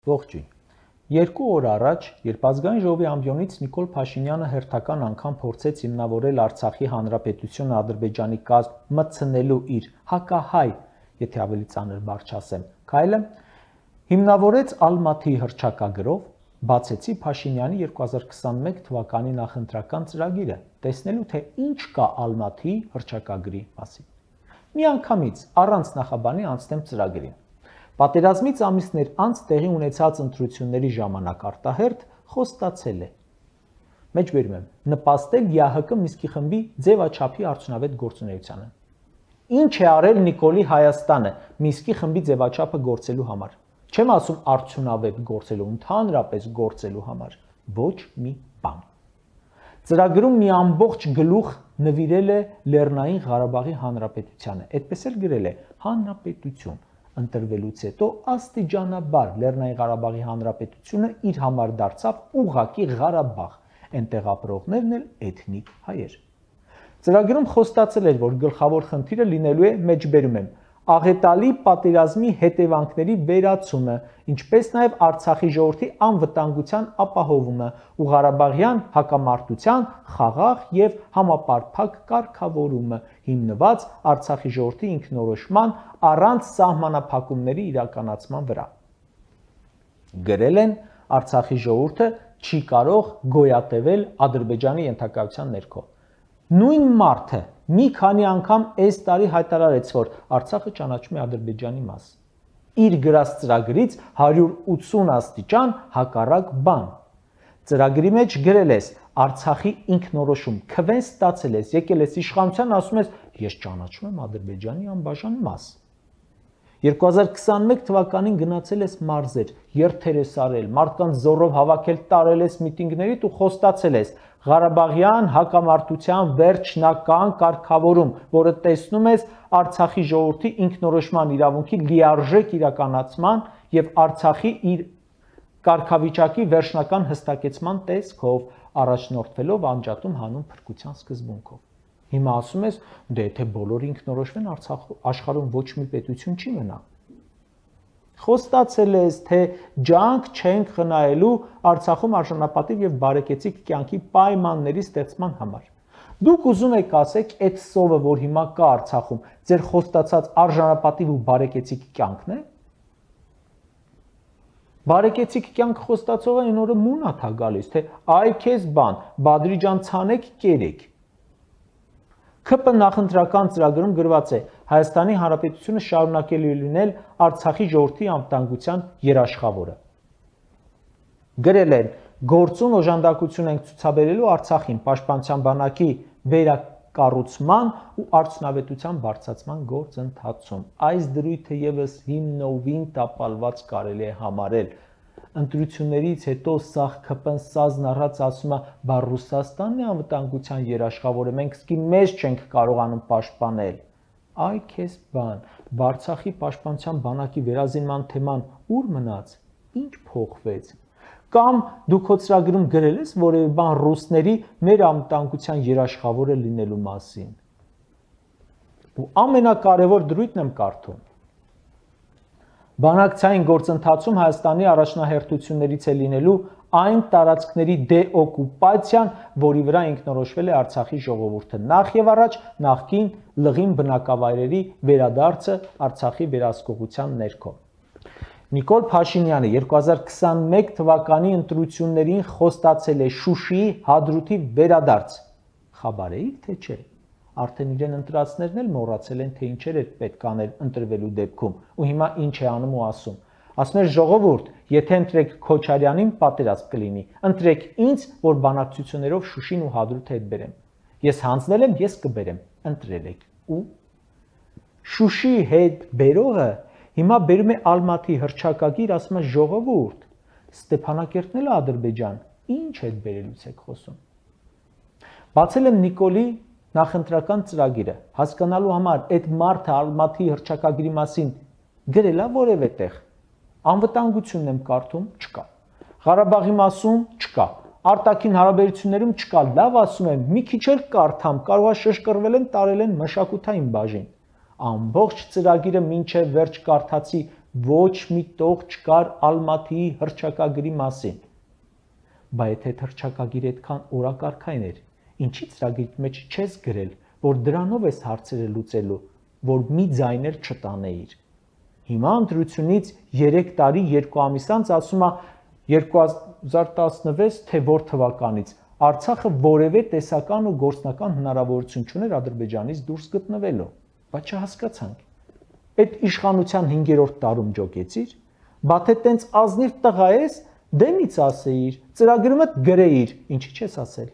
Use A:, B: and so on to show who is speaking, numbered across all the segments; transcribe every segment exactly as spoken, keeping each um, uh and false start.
A: Ողջույն։ Երկու օր առաջ, երբ Ազգային ժողովի ամբիոնից Նիկոլ Փաշինյանը հերթական անգամ փորձեց հիմնավորել Արցախի Հանրապետությունը Ադրբեջանի կազմ մտցնելու իր հակահայ, եթե ավելի ծանր բառ չասեմ, քայլը, հիմնավորեց Ալմաթիի հռչակագրով, բացեցի Փաշինյանի երկու հազար քսանմեկ թվականի նախընտրական ծրագիրը, տեսնելու թե ինչ կա Ալմաթիի հռչակագրի մասին։ Միանգամից առանց նախաբանի անցնեմ ծրագրին։ Պատերազմից ամիսներ անց տեղի ունեցած ընտրությունների ժամանակ արտահերթ խոստացել է։ Մեջբերում եմ, նպաստել ԵԱՀԿ Մինսկի խմբի ձևաչափի արդյունավետ գործունեությանը։ Ինչ է արել Նիկոլի Հայաստանը Մինսկի խմբի ձևաչափը գործելու համար։ Չեմ ասում արդյունավետ գործելու, ընդհանրապես գործելու համար, ոչ մի բան։ Ծրագրում մի ամբողջ գլուխ նվիրել է Լեռնային Ղարաբաղի Հանրապետությանը, այդպես էլ գրել է հանրապետություն։ Ընտրվելուց հետո աստիճանաբար Լեռնային Ղարաբաղի Հանրապետությունը իր համար դարձավ ուղղակի Ղարաբաղ, այնտեղ ապրողներն էլ էթնիկ հայեր։ Ծրագրում խոստացել էր, որ գլխավոր խնդիրը լինելու է, մեջբերում եմ, աղետալի պատերազմի հետևանքների վերացումը, ինչպես նաև Արցախի ժողովրդի անվտանգության ապահովումը ու Ղարաբաղյան հակամարտության խաղաղ եւ համապարփակ կարգավորումը, հիմնված Արցախի ժողովրդի ինքնորոշման առանց սահմանափակումների իրականացման վրա։ Գրել են Արցախի ժողովուրդը չի կարող գոյատևել Ադրբեջանի ենթակայության ներքո։ Նույն մարդը մի քանի անգամ այս տարի հայտարարեց, որ Արցախը ճանաչում է Ադրբեջանի մաս։ Իր գրած ծրագրից հարյուր ութսուն աստիճան հակառակ բան։ Ծրագրի մեջ գրել ես Արցախի ինքնորոշում, քվեն ստացել ես, եկել ես իշխանության, ասում ես, ես ճանաչում եմ Ադրբեջանի անբաժան մաս։ երկու հազար քսանմեկ թվականին գնացել ես մարզեր, երթեր ես արել, մարդկանց զորով հավաքել, տարել ես միտինգներից ու խոստացել ես Ղարաբաղյան հակամարտության վերջնական կարգավորում, որը տեսնում ես Արցախի ժողովրդի ինքնորոշման իրավունքի լիարժեք իրականացման եւ Արցախի իր կարգավիճակի վերջնական հստակեցման տեսքով, առաջնորդվելով անջատում հանուն փրկության սկզբունքով։ Հիմա ասում ես, դե եթե բոլորը ինքնորոշվեն, Արցախ աշխարհում ոչ մի պետություն չի մնա։ Խոստացել ես, թե ջանք չենք խնայելու Արցախում արժանապատիվ եւ բարեկեցիկ կյանքի պայմանների ստեղծման համար։ Դուք ուզում եք ասեք, այդ սովը, որ հիմա կա Արցախում, ձեր խոստացած արժանապատիվ ու բարեկեցիկ կյանքն է։ Բարեկեցիկ կյանք խոստացողը այն օրը մունաթ է գալիս, թե այ քեզ բան, Բադրի ջան, ցանեք, կերեք։ ՔՊ նախընտրական ծրագրում գրված է Հայաստանի Հանրապետությունը շարունակելու է լինել Արցախի ժողովրդի անվտանգության երաշխավորը։ Գրել են գործուն օժանդակություն ենք ցուցաբերելու Արցախին պաշտպանության բանակի վերակառուցման ու արդյունավետության բարձրացման գործընթացում։ Այս դրույթը եւս հիմնովին տապալված կարելի է համարել։ Ընտրություններից հետո սաղ ՔՊ-ն սազն առած ասում է, բա Ռուսաստանն է անվտանգության երաշխավորը, մենք սկի մեզ չենք կարողանում պաշտպանել։ Այ քեզ բան, Արցախի պաշտպանության բանակի վերազինման թեման ուր մնաց, ինչ փոխվեց։ Կամ դու քո ծրագրում գրել ես որևէ բան ռուսների մեր անվտանգության երաշխավորը լինելու մասին։ Ու ամենակարևոր դրույթն եմ կարդում։ Բանակցային գործընթացում Հայաստանի առաջնահերթություններից է լինելու այն տարածքների դեօկուպացիան, որի վրա ինքնորոշվել է Արցախի ժողովուրդը, նախ եւ առաջ նախկին լղին բնակավայրերի վերադարձը Արցախի վերահսկողության ներքո։ Նիկոլ Փաշինյանը երկու հազար քսանմեկ թվականի ընտրություններին խոստացել է Շուշիի Հադրութի վերադարձ։ Խաբար էիք, թե չէ։ Արդեն իրեն ընտրածներն էլ մոռացել են, թե ինչեր է պետք անել ընտրվելու դեպքում, ու հիմա ինչ է անում ու ասում։ Ասում է ժողովուրդ, եթե ընտրեք Քոչարյանին, պատերազմ կլինի։ Ընտրեք ինձ, որ բանակցություններով Շուշին ու Հադրութը հետ բերեմ։ Ես հանձնել եմ, ես կբերեմ։ Ընտրել եք։ Ու Շուշիի հետ բերողը հիմա բերում է Ալմաթի հռչակագիր, ասում է ժողովուրդ, Ստեփանակերտն էլ Ադրբեջան, ինչ հետ բերելուց եք խոսում։ Բացել եմ Նիկոլի նախընտրական ծրագիրը, հասկանալու համար այդ մարդը Ալմաթի հռչակագրի մասին գրելա որևէ տեղ։ Անվտանգությունն եմ կարդում, չկա։ Ղարաբաղի մասում չկա։ Արտաքին հարաբերություններում չկա։ Լավ ասում եմ, մի քիչ էլ կարդամ, կարող է շշկռվել են, տարել են մշակութային բաժին։ Ամբողջ ծրագիրը մինչև վերջ կարդացի, ոչ մի տող չկար Ալմատիի հռչակագրի մասին։ Բա եթե հռչակագիրը այդքան օրակարգային էր, ինչի ծրագրի մեջ չես գրել, որ դրանով ես հարցերը լուծելու, որ մի ձայն էլ չտանեիր։ Հիմա ընտրությունից երեք տարի երկու ամիս անց ասում է երկու հազար տասնվեց թե որ թվականից Արցախը որևէ տեսական ու գործնական հնարավորություն չուներ Ադրբեջանից դուրս գտնվելու, բայց չհասկացանք։ Այդ իշխանության հինգերորդ տարում ջոկեցիր, բա թե տենց ազնիվ տղա ես, դեմից ասեիր, ծրագրումդ գրեիր, ինչի չես ասել։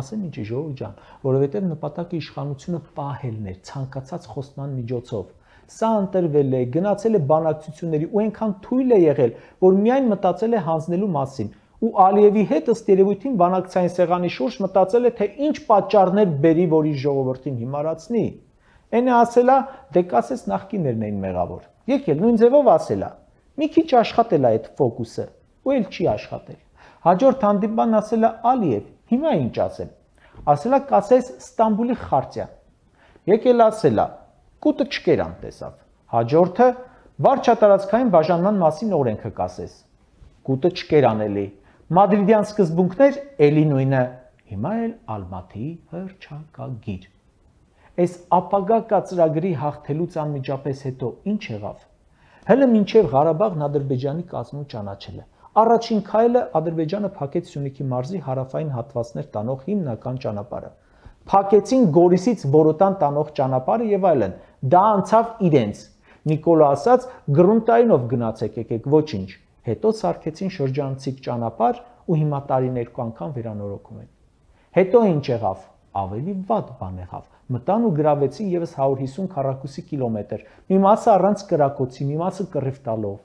A: Ասեմ ինչի ժողովուրդ ջան, որովհետև նպատակը իշխանությունը պահելն էր ցանկացած խոստման միջոցով։ Սա ընտրվել է, գնացել է բանակցությունների ու այնքան թույլ է եղել, որ միայն մտածել է հանձնելու մասին։ Ու Ալիևի հետ ըստ երևույթին բանակցային սեղանի շուրջ մտածել է, թե ինչ պատճառներ բերի, որ իր ժողովրդին հիմարացնի։ Այն է ասելա, դե կասես նախկիններն էին մեղավոր։ Եկել նույն ձևով ասելա։ Մի քիչ աշխատել է այդ ֆոկուսը, ու էլ չի աշխատել։ Հաջորդ հանդիպան ասելա Ալիև, հիմա ինչ ասեմ։ Ասելա կասես Ստամբուլի խարտիա։ Եկել ասելա, կուտը չկերան տեսավ։ Հաջորդը վարչատարածքային բաժանման մասին օրենքը կասես։ Կուտը չկերան էլի։ Մադրիդյան սկզբունքներ էլի նույնը, հիմա էլ Ալմատիի հռչակագիր։ Այս ապագա կածրագրի հաղթելուց անմիջապես հետո ինչ եղավ։ Հələ մինչև Ղարաբաղն Ադրբեջանի կազմում ճանաչելը։ Առաջին քայլը Ադրբեջանը փակեց Սյունիքի մարզի հարավային հատվածներ տանող հիմնական ճանապարհը։ Փակեցին Գորիսից Բորոտան տանող ճանապարհը եւ այլն։ Դա անցավ իրենց։ Նիկոլը ասաց գրունտայինով գնացեք եկեք, ոչինչ։ Հետո սարքեցին շրջանցիկ ճանապարհ ու հիմա տարին երկու անգամ վերանորոգում են։ Հետո ինչ եղավ։ Ավելի վատ բան եղավ։ Մտան ու գրավեցին եւս հարյուր հիսուն քառակուսի կիլոմետր։ Մի մասը առանց կրակոցի, մի մասը կռիվ տալով։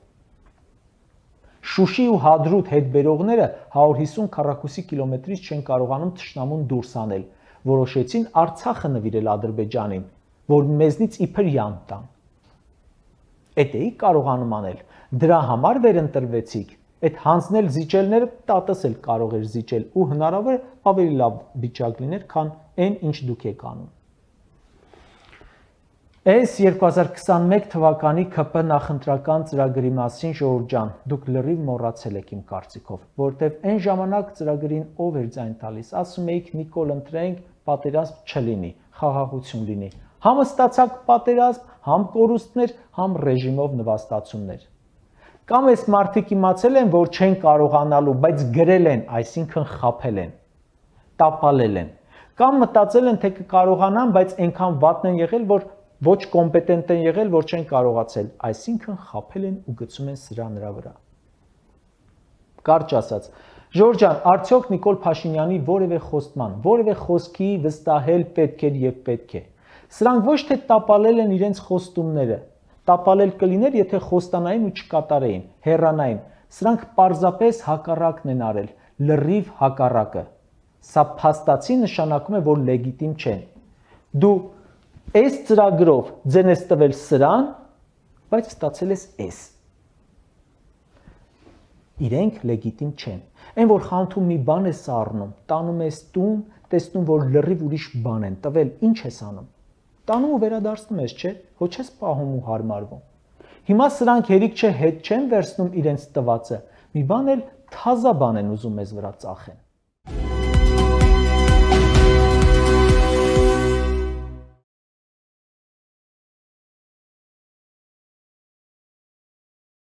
A: Շուշի ու Հադրուտ հետ բերողները հարյուր հիսուն քառակուսի կիլոմետրից չեն կարողանում թշնամուն դուրս անել։ Որոշեցին Արցախը նվիրել Ադրբեջանին, որ մեզնից իբր յան տան։ Էդ էի կարողանում անել։ Դրա համար վերընտրվեցիք։ Այդ հանձնել զիջելները տատս էլ կարող էր զիջել ու հնարավոր է ավելի լավ վիճակ լիներ, քան այն ինչ դուք եք անում։ Այս երկու հազար քսանմեկ թվականի ՔՊ նախընտրական ծրագրի մասին ժողովուրդ ջան, դուք լրիվ մոռացել եք իմ կարծիքով, որովհետև այն ժամանակ ծրագրին ով էր ձայն տալիս, ասում էիք Նիկոլ ընտրենք, պատերազմ չլինի, խաղաղություն լինի։ Համ ստացակ պատերազմ, համ կորուստներ, համ ռեժիմով նվաստացումներ։ Կամ այս մարդիկ իմացել են, որ չեն կարողանալու, բայց գրել են, այսինքն խաբել են, տապալել են։ Կամ մտածել են, թե կկարողանան, բայց այնքան վատն են եղել, որ ոչ կոմպետենտ են եղել, որ չեն կարողացել, այսինքն խաբել են ու գցում են սրա նրա վրա։ Կարճ ասած, Ժորժ ջան, արդյոք Նիկոլ Փաշինյանի որևէ խոստման, որևէ խոսքի վստահել պետք էր եւ պետք է։ Սրանք ոչ թե տապալել են իրենց խոստումները, տապալել կլիներ, եթե խոստանային ու չկատարեին, հեռանային։ Սրանք պարզապես հակառակն են արել, լրիվ հակառակը։ Սա փաստացի նշանակում է, որ լեգիտիմ չեն։ Դու այս ծրագրով ձեն ես տվել սրան, բայց ստացել ես էս։ Իրենք լեգիտիմ չեն։ Այն որ խանութում մի բան ես առնում, տանում ես տուն, տեսնում որ լրիվ ուրիշ բան են տվել, ինչ ես անում։ Տանում ու վերադարձնում ես, չէ՞, ոչ ես պահում ու հարմարվում։ Հիմա սրանք հերիք չէ հետ չեն վերցնում իրենց տվածը, մի բան էլ թազա բան են ուզում մեզ վրա ծախեն։